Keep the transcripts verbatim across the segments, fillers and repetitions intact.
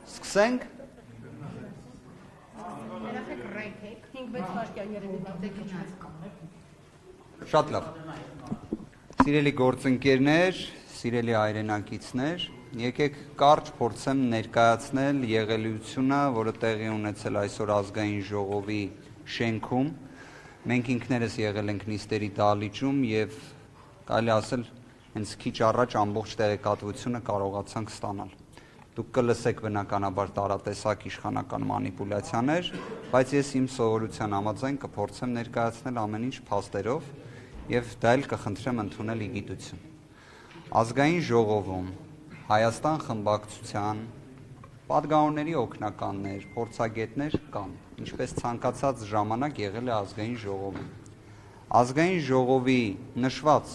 Սկսենք։ Շատ լավ։ Սիրելի գործընկերներ, սիրելի հայրենակիցներ, եկեք կարճ փորձեմ ներկայացնել եղելությունը, որը տեղի ունեցել այսօր ազգային ժողովի շենքում։ Մենք ինքներս եղել ենք նիստերի դահլիճում եւ կարելի ասել հենց քիչ առաջ ամբողջ տեղեկատվությունը կարողացանք ստանալ։ Դուք կլսեք բնականաբար տարատեսակ իշխանական մանիպուլյացիաներ, բայց ես իմ սովորության համաձայն կփորձեմ ներկայացնել ամեն ինչ փաստերով եւ դա էլ կխնդրեմ ընդունել ի գիտություն։ Ազգային ժողովում Հայաստան խմբակցության պատգամավորների օգնականներ, փորձագետներ կան, ինչպես ցանկացած ժամանակ եղել է ազգային ժողովում։ Ազգային ժողովի նշված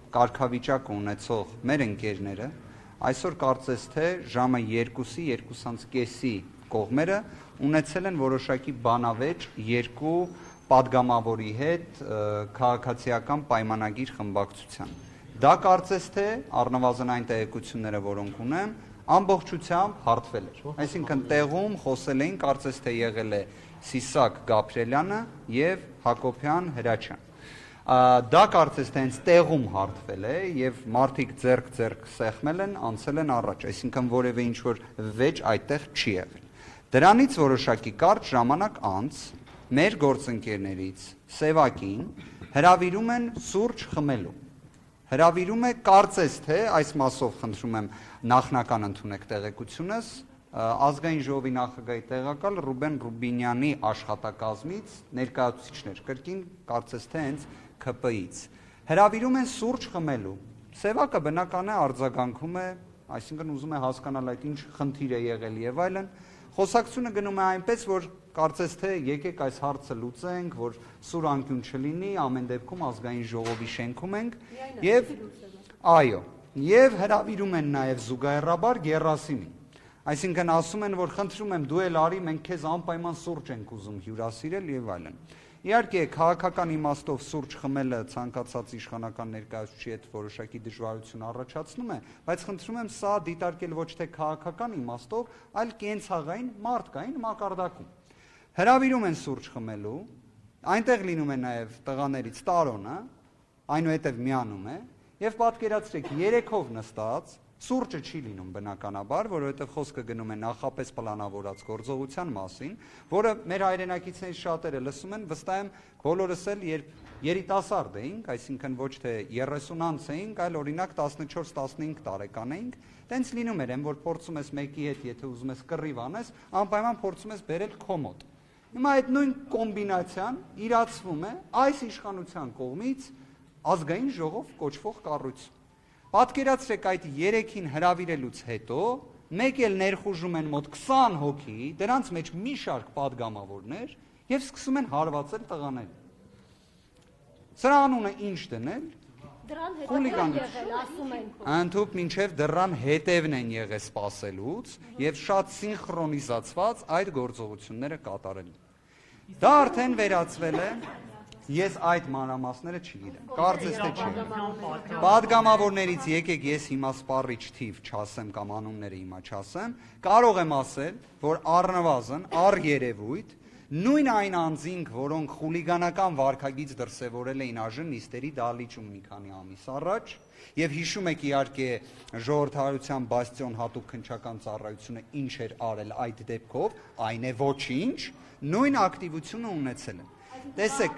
կարգավիճակ ունեցող մեր ընկերները այսօր կարծես թե ժամը երկուսի, երկուսից կեսի կողմերը ունեցել են որոշակի բանավեճ երկու պատգամավորի հետ քաղաքացիական պայմանագիր խմբակցության։ Դա կարծես թե առնվազն այն տեղեկությունները, որոնք ունեմ, ամբողջությամբ հարթվել էր։ Այսինքն տեղում խոսել էին, կարծես թե եղել է Սիսակ Գաբրելյանը եւ Հակոբյան Հրաչյան։ Դա կարծես թե հենց տեղում հարթվել է եւ մարդիկ ձեռք-ձեռք սեղմել են, անցել են առաջ, այսինքն որևէ ինչ-որ վեճ այդտեղ չի եղել։ Դրանից որոշակի կարճ ժամանակ անց մեր գործընկերներից Սևակին հրավիրում են սուրճ խմելու։ Հրավիրում է կարծես թե այս մասով խնդրում եմ նախնական ընդունեք տեղեկությունս ազգային ժողովի նախագահի տեղակալ Ռուբեն Ռուբինյանի աշխատակազմից ներկայացուցիչներ, կրկին կարծես թե հենց K P I-ից հրավիրում են սուրճ խմելու։ Սևակը բնական է արձագանքում է, այսինքն ուզում է հասկանալ այդ ինչ խնդիր է եղել եւ այլն։ Խոսակցությունը գնում է այնպես, որ կարծես թե եկեք այս հարցը լուծենք, որ սուր անկյուն չլինի, ամեն դեպքում ազգային ժողովի շենքում ենք եւ այո, եւ հրավիրում են նաեւ զուգահեռաբար Գերասիմին։ Այսինքն ասում են, որ խնդրում եմ դու էլ արի, մենք քեզ անպայման սուրճ ենք ուզում հյուրասիրել եւ այլն։ Իհարկե, քաղաքական իմաստով սուրճ խմելը ցանկացած իշխանական ներկայացուցիչի հետ որոշակի դժվարություն առաջացնում է, բայց խնդրում եմ սա դիտարկել ոչ թե քաղաքական իմաստով, այլ կենցաղային մարդկային մակարդակում։ Հրավիրում են սուրճ խմելու, այնտեղ լինում է նաև տղաներից Տարոնը, այնուհետև միանում է, եւ պատկերացրեք երեքով նստած սուրճը չի լինում բնականաբար, որովհետև խոսքը գնում է նախապես պլանավորած գործողության մասին, որը մեր հայրենակիցներից շատերը լսում են, վստահ եմ բոլորս էլ երբ երիտասարդ էինք, այսինքն ոչ թե երեսուն անց էինք, այլ օրինակ տասնչորս տասնհինգ տարեկան էինք, տենց լինում էր, որ փորձում ես մեկի հետ, եթե ուզում ես կռիվ անես, անպայման փորձում ես բերել քո մոտ։ Հիմա այդ նույն կոմբինացիան իրացվում է այս իշխանության կողմից ազգային ժողով կոչվող կառույցում։ Պատկերացրեք այդ երեքին հրավիրելուց հետո մեկ էլ ներխուժում են մոտ քսան հոգի, դրանց մեջ մի շարք պատգամավորներ եւ սկսում են հարվածել տղաներին։ Սրա անունը ինչ դնել։ Դրան հետևն եղել, ասում են։ Ընդհուպ մինչև դրան հետևն են եղել սпасելուց եւ շատ սինխրոնիզացված այդ գործողությունները կատարել։ Դա արդեն վերածվել է Ես այդ մանրամասները չգիտեմ, կարծես թե չի։ Պատգամավորներից եկեք ես հիմա սպառիչ թիվ չասեմ կամ անունները հիմա չասեմ, կարող եմ ասել, որ առնվազն առերևույթ նույն այն անձինք, որոնք խուլիգանական վարքագիծ դրսևորել էին ԱԺ նիստերի դահլիճում մի քանի ամիս առաջ, եւ հիշում եք իհարկե ժողովրդավարության բաստիոն հատուկ քննչական ծառայությունը ինչ էր արել այդ դեպքով, այն է ոչինչ, նույն ակտիվությունը ունեցել են։ Տեսեք,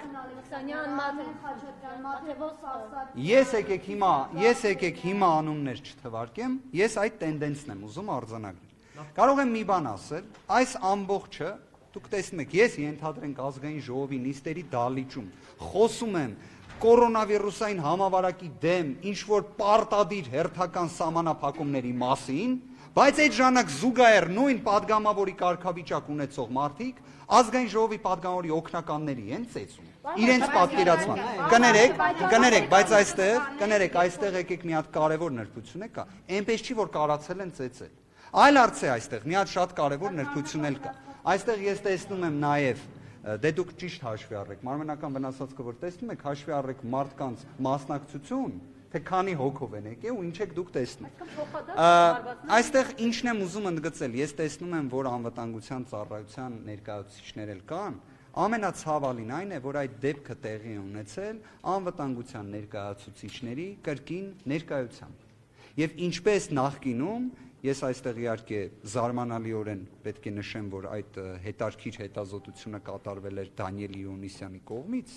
ես եկեք հիմա, ես եկեք հիմա անուններ չթվարկեմ, ես այդ տենդենսն եմ ուզում արձանագրել։ Կարող եմ մի բան ասել, այս ամբողջը, դուք տեսնում եք, ես ենթադրենք ազգային ժողովի նիստերի դահլիճում խոսում եմ կորոնավիրուսային համավարակի դեմ ինչ-որ պարտադիր հերթական սահմանափակումների մասին, բայց այդ ժամանակ զուգահեռ նույն պատգամավորի կարգավիճակ ունեցող մարդիկ ազգային ժողովի պատգամավորի օգնականների են ծեծում։ Իրենց պատկերացման։ Կներեք, կներեք, բայց այստեղ, կներեք, այստեղ եկեք մի հատ կարևոր նրբություն է կա։ Այնպես չի, որ կարացել են ծեծել։ Այլ հարց է այստեղ, մի հատ շատ կարևոր նրբություն էլ կա։ Այստեղ ես տեսնում եմ նաև, դե դուք ճիշտ հաշվի առեք, մարմնական վնասվածքը որ տեսնում եք, հաշվի առեք մարդկանց մասնակցություն թե քանի հոգով են եկել ու ինչ եք դուք տեսնում։ Այստեղ ինչն եմ ուզում ընդգծել, ես տեսնում եմ, որ անվտանգության ծառայության ներկայացուցիչներ էլ կան, ամենացավալին այն է, որ այդ դեպքը տեղի է ունեցել անվտանգության ներկայացուցիչների կրկին ներկայությամբ։ Եվ ինչպես նախկինում, ես այստեղ իհարկե զարմանալիորեն պետք է նշեմ, որ այդ հետարքիր հետազոտությունը կատարվել էր Դանիել Իոնիսյանի կողմից,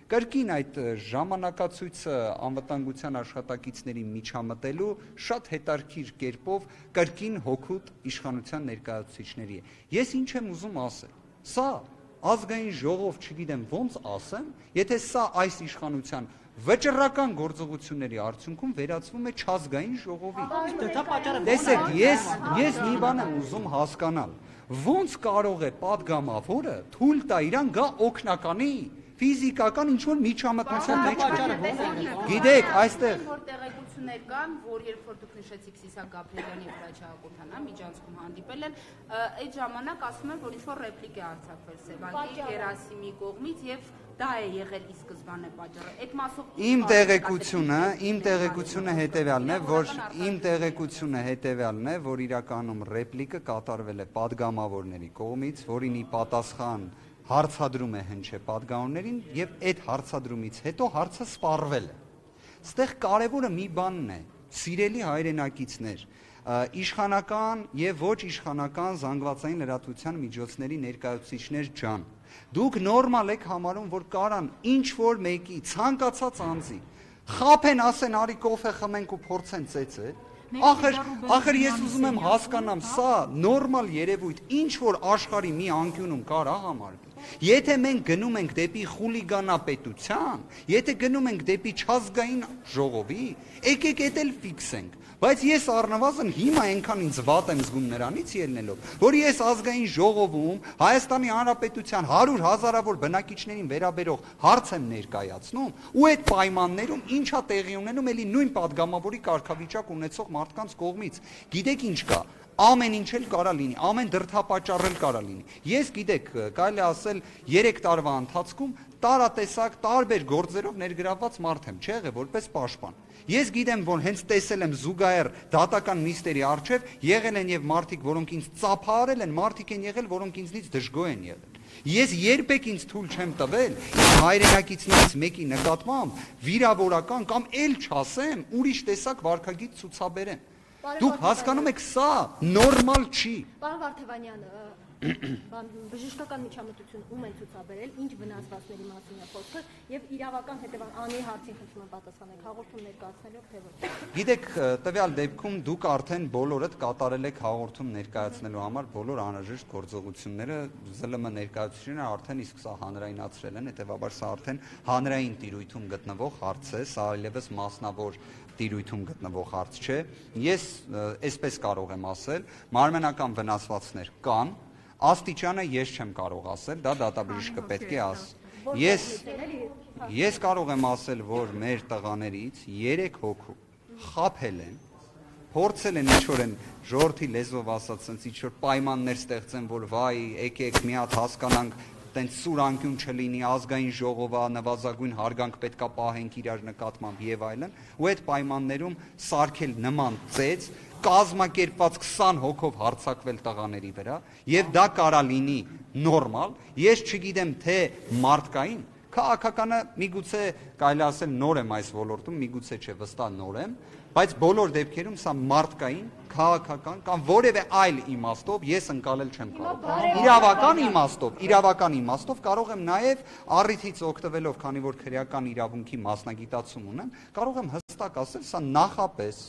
կրկին այդ ժամանակացույցը անվտանգության աշխատակիցների միջամտելու շատ հետարքիր կերպով կրկին հօգուտ իշխանության ներկայացուցիչների է։ Ես ինչ եմ ուզում ասել, սա ազգային ժողով, չգիտեմ ոնց ասեմ, եթե սա այս իշխանության վճռական գործողությունների արդյունքում վերածվում է չազգային ժողովի։ Տեսեք, ես ես մի բան եմ ուզում հասկանալ, ոնց կարող է падգամավորը թույլ տա իրան գա օգնականի ֆիզիկական ինչ-որ միջամտության մեջ։ Գիտեք, այստեղ որ տեղեկություններ կան, որ երբ որ դուք նշեցիք Սիսակ Գաբրելյանի եւ Ռաչա Հակոբյանը միջանցքում հանդիպել են, այդ ժամանակ ասում են, որ ինչ-որ ռեպլիկ է արձակվել Սևանկի Գերասիմի կողմից եւ դա է եղել ի սկզբանե պատճառը։ Այդ մասով իմ տեղեկությունը, իմ տեղեկությունը հետեւյալն է, որ իմ տեղեկությունը հետեւյալն է, որ իրականում ռեպլիկը կատարվել է падգամավորների կողմից, որին ի պատասխան հարցադրում է հնչե падգամավորներին եւ այդ հարցադրումից հետո հարցը սպառվել է։ Ստեղ կարևորը մի բանն է, սիրելի հայրենակիցներ, իշխանական եւ ոչ իշխանական զանգվածային լրատվության միջոցների ներկայացուցիչներ ջան, դուք նորմալ եք համարում, որ կարան ինչ որ մեկի ցանկացած անձի խափեն, ասեն արի կոֆե խմենք ու փորձեն ծեծել։ Ախր, ախր ես ուզում եմ հասկանամ, սա նորմալ երևույթ ինչ որ աշխարհի մի անկյունում կարա համարվի։ Եթե մենք գնում ենք դեպի խուլիգանապետության, եթե գնում ենք դեպի չազգային ժողովի, եկեք էդ էլ ֆիքսենք։ Բայց ես առնվազն հիմա այնքան ինձ վատ եմ զգում նրանից ելնելով, որ ես ազգային ժողովում Հայաստանի Հանրապետության հարյուր հազարավոր բնակիչներին վերաբերող հարց եմ ներկայացնում, ու այդ պայմաններում ինչա տեղի ունենում էլի նույն падգամավորի կարգավիճակ ունեցող մարդկանց կողմից։ Գիտեք ինչ կա, ամեն ինչ էլ կարա լինի, ամեն դրդապատճառ էլ կարա լինի։ Ես գիտեք, կարելի ասել երեք տարվա ընթացքում տարատեսակ տարբեր գործերով ներգրավված մարդ եմ, չէ՞ որպես պաշտպան։ Ես գիտեմ, որ հենց տեսել եմ զուգահեռ դատական նիստերի առջև եղել են եւ մարդիկ, որոնք ինձ ծափահարել են, մարդիկ են եղել, որոնք ինձնից դժգոհ են եղել։ Ես երբեք ինձ թույլ չեմ տվել հայրենակիցներից մեկի նկատմամբ վիրավորական կամ էլ չասեմ ուրիշ տեսակ վարքագիծ ցուցաբերեմ։ Դուք հասկանում եք, սա նորմալ չի։ Պարոն Վարդևանյան, բժշկական միջամտություն ում են ցուցաբերել, ինչ վնասվածքների մասին է խոսքը եւ իրավական հետեւան անի հարցին խնդրում եմ պատասխանեք հաղորդում ներկայացնելով թե ոչ։ Գիտեք, տվյալ դեպքում դուք արդեն բոլորդ կատարել եք հաղորդում ներկայացնելու համար բոլոր անհրաժեշտ գործողությունները, ԶԼՄ ներկայացուցիչները արդեն իսկ սա հանրայնացրել են, հետեւաբար սա արդեն հանրային տիրույթում գտնվող հարց է, սա այլևս մասնավոր տիրույթում գտնվող հարց չէ։ Ես այսպես կարող եմ ասել, մարմենական վնասվածքներ կան, աստիճանը ես չեմ կարող ասել, դա դատաբժիշկը պետք է ասի։ Ես ես կարող եմ ասել, որ մեր տղաներից երեք հոգու խաբել են, փորձել են ինչ-որ են ժողովրդի լեզվով ասած, sense ինչ-որ պայմաններ ստեղծեն, որ վայ, եկեք մի հատ հասկանանք, տենց սուր անկյուն չլինի, ազգային ժողովա, նվազագույն հարգանք պետքա պահենք իրար նկատմամբ եւ այլն, ու այդ պայմաններում սարքել նման ծեծ, կազմակերպված քսան հոգով հարձակվել տղաների վրա, եւ դա կարա լինի նորմալ, ես չգիտեմ թե մարդկային, քաղաքականը միգուցե կարելի ասել նոր եմ այս ոլորտում, միգուցե չէ, վստահ նոր եմ, բայց բոլոր դեպքերում սա մարդկային, քաղաքական կամ որևէ այլ իմաստով ես ընկալել չեմ կարող։ Իրավական իմաստով, իրավական իմաստով կարող եմ նաև առիթից օգտվելով, քանի որ քրեական իրավունքի մասնագիտացում ունեմ, կարող եմ հստակ ասել, սա նախապես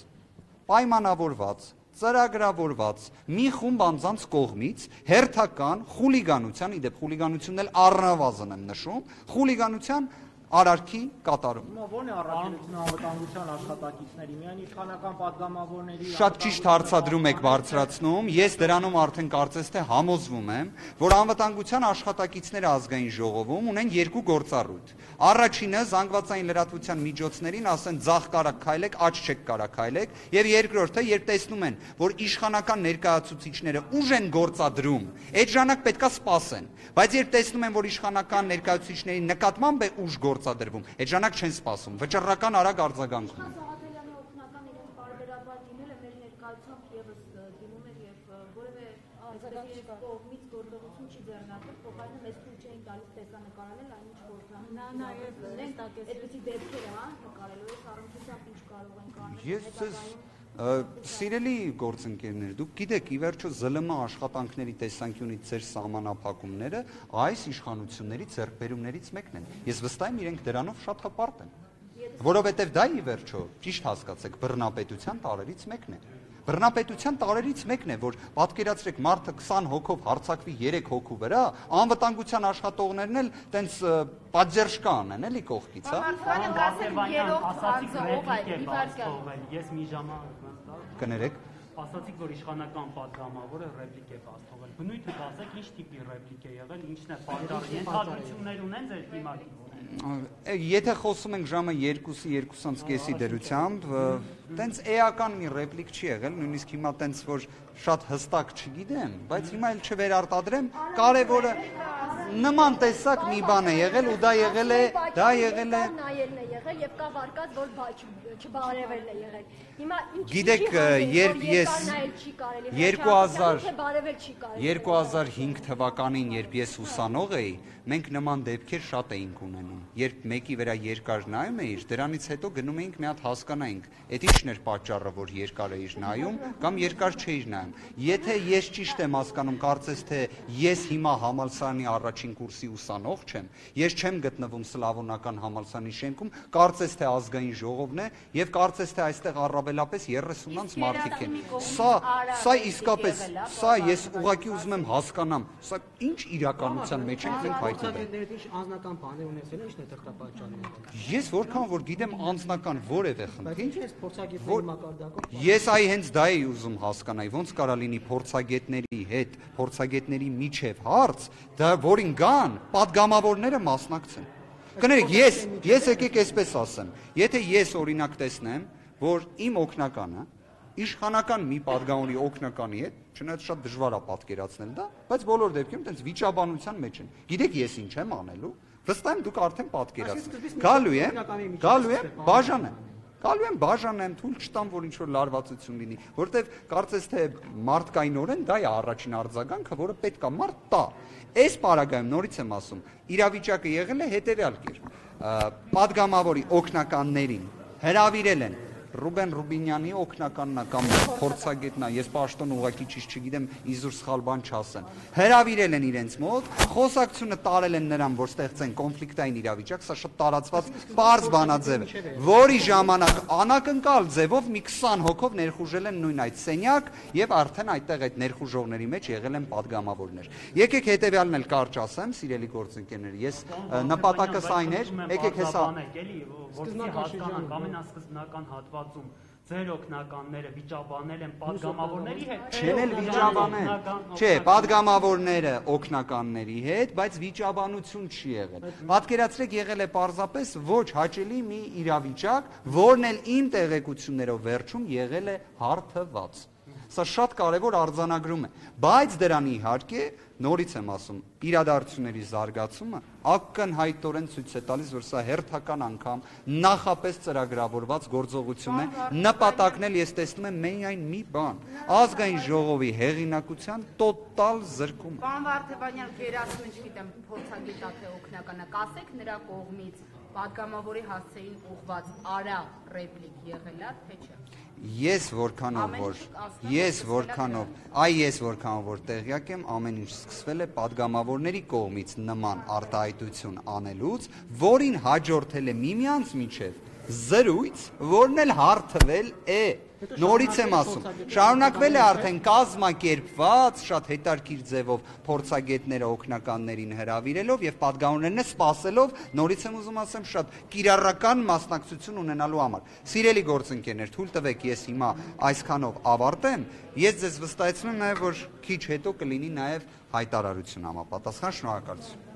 պայմանավորված, ծրագրավորված մի խումբ անձանց կողմից հերթական խուլիգանության, իդեպ խուլիգանությունն էլ առնվազն եմ նշում, խուլիգանության արարքի կատարում։ Ո՞րն է առաքելությունը անվտանգության աշխատակիցների, միայն իշխանական падգամավորների։ Շատ ճիշտ հարցադրում եք բարձրացնում, ես դրանում արդեն կարծես թե համոզվում եմ, որ անվտանգության աշխատակիցները ազգային ժողովում ունեն երկու գործառույթ։ Առաջինը զանգվածային լրատվության միջոցներին ասեն ձախ կարակ քայլեք, աջ չեք կարա քայլեք, եւ երկրորդը, երբ տեսնում են, որ իշխանական ներկայացուցիչները ուժ են գործադրում, այդ ժամանակ պետքա սպասեն, բայց երբ տեսնում են, որ իշխանական ներկայացուցիչների նկատմամբ է ուժ գործադրվում, այդ ժամանակ չեն սպասում, վճռական արագ արձագանքում են։ գալիս տեսանկարել այն ինչ որ նա նաև այդպեսի դեպքեր հա նկարելու է առնչությամբ ինչ կարող են կանել Ես Սիրելի գործընկերներ, դուք գիտեք, ի վերջո զլ մ աշխատանքների տեսանկյունից ձեր սահմանափակումները այս իշխանությունների ձեռքբերումներից մեկն են։ Ես վստահ եմ իրենք դրանով շատ հպարտ են։ Որովհետև դա ի վերջո, ճիշտ հասկացեք, բռնապետության տարերից մեկն է։ Բռնապետության տարերից մեկն է, որ պատկերացրեք մարդը քսան հոգով հարձակվի երեք հոգու վրա, անվտանգության աշխատողներն էլ տենց պատժերժկա անեն, էլի կողքից, հա։ Ես մի ժամանակ Կներեք ասացիք, որ իշխանական պատգամավորը ռեպլիկ է բաց թողել։ Բնույթը ասեք, ինչ տիպի ռեպլիկ է եղել, ինչն է պատճառը, ենթադրություններ ունեն ձեր դիմակից։ Եթե խոսում ենք ժամը երկուսի, երկուսանց կեսի դրությամբ, տենց էական մի ռեպլիկ չի եղել, նույնիսկ հիմա տենց որ շատ հստակ չգիտեմ, բայց հիմա էլ չվերարտադրեմ, կարևորը նման տեսակ մի բան է եղել ու դա եղել է, դա եղել է նայելն է եղել եւ կա վարկած որ չբարևելն է եղել։ Հիմա ինչ Գիտեք, երբ ես երկու հազար հինգ թվականին, երբ ես ուսանող էի, մենք նման դեպքեր շատ էինք ունենում։ Երբ մեկի վրա երկար նայում էիր, դրանից հետո գնում էինք մի հատ հասկանայինք, այդ ի՞նչն էր պատճառը, որ երկար էիր նայում կամ երկար չէիր նայում։ Եթե ես ճիշտ եմ հասկանում, կարծես թե ես հիմա համալսարանի առաջին կուրսի ուսանող չեմ, ես չեմ գտնվում Սլավոնական համալսարանի շենքում, կարծես թե ազգային ժողովն է եւ կարծես թե այստեղ առավելապես երեսունանց մարդիկ են։ Սա, սա իսկապես, սա ես ուղղակի ուզում եմ հասկանամ, սա ինչ իրականության մեջ ենք մենք հայտնվել։ Ինչ անձնական բաներ ունեցել են, ինչն է դրդապատճառը։ Ես որքան որ գիտեմ անձնական որևէ խնդիր, Ինչ ես փորձագետների մակարդակով։ Ես այ հենց դա էի ուզում հասկանալ, ոնց կարա լինի փորձագետների հետ, փորձագետների միջև հարց, դա որին գան, падգամավորները մասնակցեն։ Կներեք, ես, ես եկեք այսպես ասեմ, եթե ես օրինակ տեսնեմ, որ իմ օգնականը իշխանական մի падգամավորի օգնականի հետ, չնայած շատ դժվար է պատկերացնել դա, բայց բոլոր դեպքերում տենց վիճաբանության մեջ են։ Գիտեք ես ինչ եմ անելու, վստահ եմ դուք արդեն պատկերացրեք։ Գալու եմ, գալու եմ, բաժանեմ։ Գալու եմ բաժանեմ, թույլ չտամ, որ ինչ-որ լարվածություն լինի, որովհետև կարծես թե մարդկայնորեն դա է առաջին արձագանքը, որը պետք է մարդ տա։ Այս պարագայում նորից եմ ասում, իրավիճակը եղել է հետևյալ կերպ։ Падգամավորի օգնականներին հրավիրել են Ռուբեն Ռուբինյանի օգնականն է կամ փորձագետն է, ես պաշտոն ուղղակի ճիշտ չգիտեմ, իզուր սխալ բան չասեմ։ Հրավիրել են իրենց մոտ, խոսակցությունը տարել են նրան, որ ստեղծեն կոնֆլիկտային իրավիճակ, սա շատ տարածված պարզ բանաձև է, որի ժամանակ անակնկալ ձևով մի քսան հոգով ներխուժել են նույն այդ սենյակ եւ արդեն այդտեղ այդ ներխուժողների մեջ եղել են падգամավորներ։ Եկեք հետեւյալն էլ կարճ ասեմ, սիրելի գործընկերներ, ես նպատակս այն էր, եկեք հեսա Որսի հասկանանք ամենասկզբնական հատվածում ձեր օգնականները վիճաբանել են падգամավորների հետ։ Չեն էլ վիճաբանել։ Չէ, падգամավորները օգնականների հետ, բայց վիճաբանություն չի եղել։ Պատկերացրեք, եղել է պարզապես ոչ հաճելի մի իրավիճակ, որն էլ իմ տեղեկություններով վերջում եղել է հարթված։ Սա շատ կարևոր արձանագրում է, բայց դրան իհարկե նորից եմ ասում, իրադարձությունների զարգացումը ակնհայտորեն ցույց է տալիս, որ սա հերթական անգամ նախապես ծրագրավորված գործողություն է, նպատակն էլ ես տեսնում եմ միայն մի բան, ազգային ժողովի հեղինակության տոտալ զրկումը։ Պարոն Վարդևանյան, գերասու ինչ գիտեմ, փորձագետա թե օգնականը, կասեք նրա կողմից падգամավորի հասցեին ուղված արա ռեպլիկ եղել է, թե չէ։ Ես որքանով որ ես որքանով այ ես որքանով որ տեղյակ եմ, ամեն ինչ սկսվել է падգամավորների կողմից նման արտահայտություն անելուց, որին հաջորդել է միմյանց միջև զրույց, որն էլ հարթվել է։ Նորից եմ ասում, շարունակվել է արդեն կազմակերպված շատ հետաքրքիր ձևով փորձագետները օգնականներին հրավիրելով եւ падգամավորներն սպասելով, նորից եմ ուզում ասեմ, շատ կիրառական մասնակցություն ունենալու համար։ Սիրելի գործընկերներ, թույլ տվեք ես հիմա այսքանով ավարտեմ, ես ձեզ վստահեցնում եմ նաեւ, որ քիչ հետո կլինի նաեւ հայտարարություն համապատասխան, շնորհակալություն։